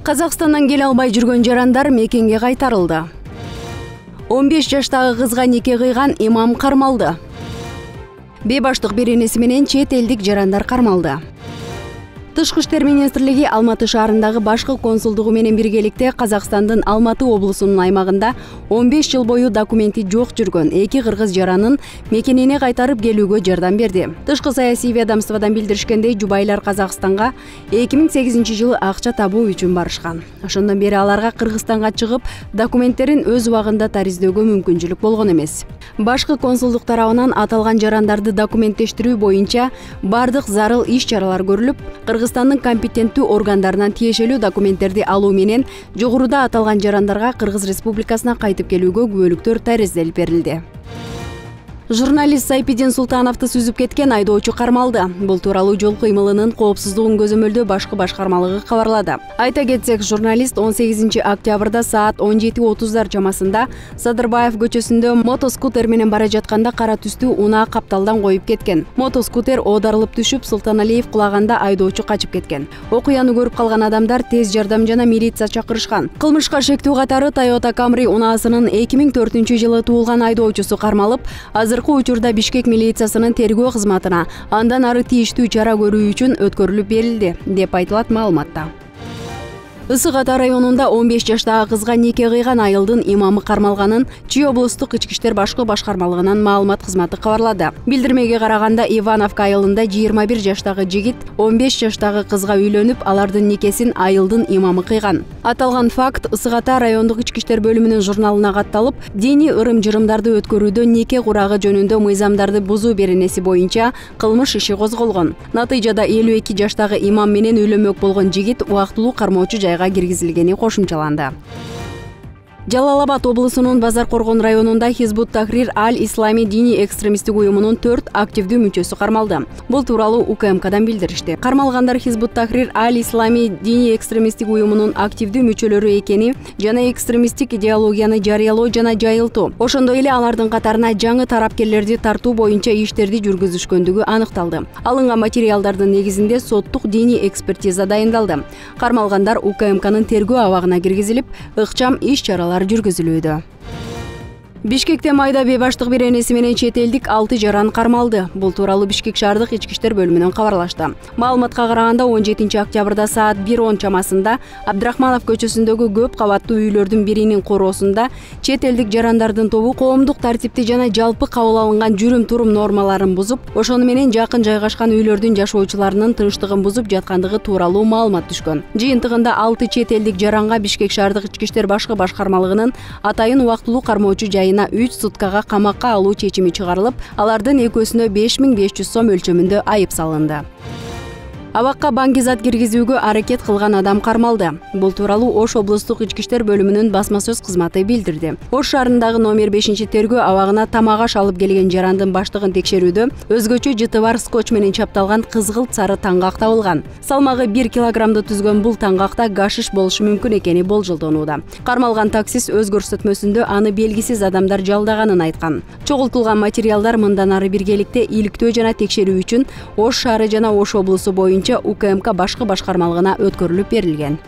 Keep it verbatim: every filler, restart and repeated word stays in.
Казакстандан келе албай жүргөн жарандар мекенге кайтарылды. он беш жаштагы кызга нике кыйган имам кармалды. Бейбаштык беренеси менен чет элдик жарандар кармалды. Тышкы иштер министрлиги Алматы шаарындагы башкы консулдугу менен биргеликте Казакстандын Алматы облусунун аймагында он беш жыл бою документи жок жүргөн эки кыргыз жаранын мекенине кайтарып келүүгө жардам берди. Тышкы саясий ведомстводон билдиришкендей, жубайлар Казакстанга эки миң сегизинчи жылы акча табуу үчүн барышкан. Ошондон бери аларга Кыргызстанга чыгып, документтерин өз убагында тариздөөгө мүмкүнчүлүк болгон эмес. Башкы консулдук тарабынан аталган жарандарды документтештирүү боюнча бардык зарыл иш-чаралар көрүлүп, Кыргызстандын компетенттүү органдарынан тиешелүү документтерди алуу менен жогоруда аталган жарандарга Кыргыз Республикасына кайтып келүүгө күбөлүктөр таризделип берилди. Журналист Сайпидин Султановду сүзүп кеткен айдоочу кармалды. Бул тууралуу жол кыймылынын коопсуздугун көзөмөлдөө башкы башкармалыгы кабарлады. Айта кетсек, журналист он сегизинчи октябрда саат он жети отуздар чамасында Садырбаев көчөсүндө мотоскутер менен бара жатканда кара түстүү унаа капталдан коюп кеткен. Мотоскутер оодарылып түшүп, Султаналиев кулаганда айдоочу качып кеткен. Окуяны көрүп калган адамдар тез жардам жана милиция чакырышкан. Кылмышка шектүү катары Toyota Camry унаасынын эки миң төртүнчү жылы туулган айдоочусу кармалып, азыр учурда Бишкек милициясынын тергөө кызматына андан ары тийиштүү чара көрүү үчүн өткөрүлүп берилди, деп айтылат маалыматта. Ысык Ата районунда он беш жаштагы кызга нике кыйган айылдын имамы кармалганын Чүй облустук ички иштер башкы башкармалыгынын маалымат кызматы кабарлады. Билдирмеге караганда, Ивановка айылында жыйырма бир жаштагы жигит он беш жаштагы кызга үйлөнүп, алардын никесин айылдын имамы кыйган. Аталган факт Ысык Ата райондук ички иштер бөлүмүнүн журналына катталып, диний ырым-жырымдарды өткөрүүдө нике курагы жөнүндө мыйзамдарды бузуу беренеси боюнча кылмыш иши козголгон. Натыйжада элүү эки жаштагы имам менен үйлөнмөк болгон жигит убактылуу кармоочу жайга киргизилгени кошумчаланды. Жалал Абад облусунун Базар Коргон районунда Хизбут Тахрир Аль-Ислами диний экстремисттик уюмунун төрт активдүү мүчөсү кармалды. Бул тууралуу У К М Кдан билдиришти. Кармалгандар Хизбут Тахрир Аль-Ислами диний экстремисттик уюмунун активдүү мүчөлөрү экени жана экстремисттик идеологияны жарыялоо жана жайылтуу. Ошондой эле алардын катарына жаңы тарапкерлерди тартуу боюнча иштерди жүргүзүшкөндүгү аныкталды. Алынган материалдардын негизинде соттук диний экспертиза дайындалды. Кармалгандар У К М Кнын тергөө абагына киргизилип, ыкчам иш-чаралар жүргүзүлүүдө. Бишкекте майда бейбаштык беренеси менен чет элдик алты жаран кармалды. Бул тууралуу Бишкек шаардык ички иштер бөлүмүнөн кабарлашты. Маалыматка караганда, он жетинчи октябрда саат бир он чамасында Абдрахманов көчөсүндөгү көп кабаттуу үйлөрдүн биринин короосунда чет элдик жарандардын тобу коомдук тартипти жана жалпы кабыл алынган жүрүм-турум нормаларын бузуп, ошону менен жакын жайгашкан үйлөрдүн жашоочуларынын тынчтыгын бузуп жаткандыгы тууралуу маалымат түшкөн. Жыйынтыгында алты чет элдик жаранга Бишкек шаардык ички иштер башкы башкармалыгынын атайын убактылуу кармоочу жайына үч суткага камакка алуу чечими чыгарылып, алардын экөөсүнө беш миң беш жүз сом өлчөмүндө айып салынды. Абакка баңгизат киргизүүгө аракет кылган адам кармалды. Бул тууралуу Ош облустук ички иштер бөлүмүнүн басма сөз кызматы билдирди. Ош шаарындагы номер бешинчи тергөө абагына тамак-аш алып келген жарандын баштыгын текшерүүдө өзгөчө жыты бар скотч менен чапталган кызгылт сары таңгак табылган. Салмагы бир килограммды түзгөн бул таңгакта гашиш болушу мүмкүн экени болжолдонууда. Кармалган таксист өз көрсөтмөсүндө аны белгисиз адамдар жалдаганын айткан. Чогултулган материалдар мындан ары биргеликте иликтөө жана текшерүү үчүн Ош шаары жана Ош облусу боюнча У К М К башкы башкармалыгына өткөрүлүп берилген.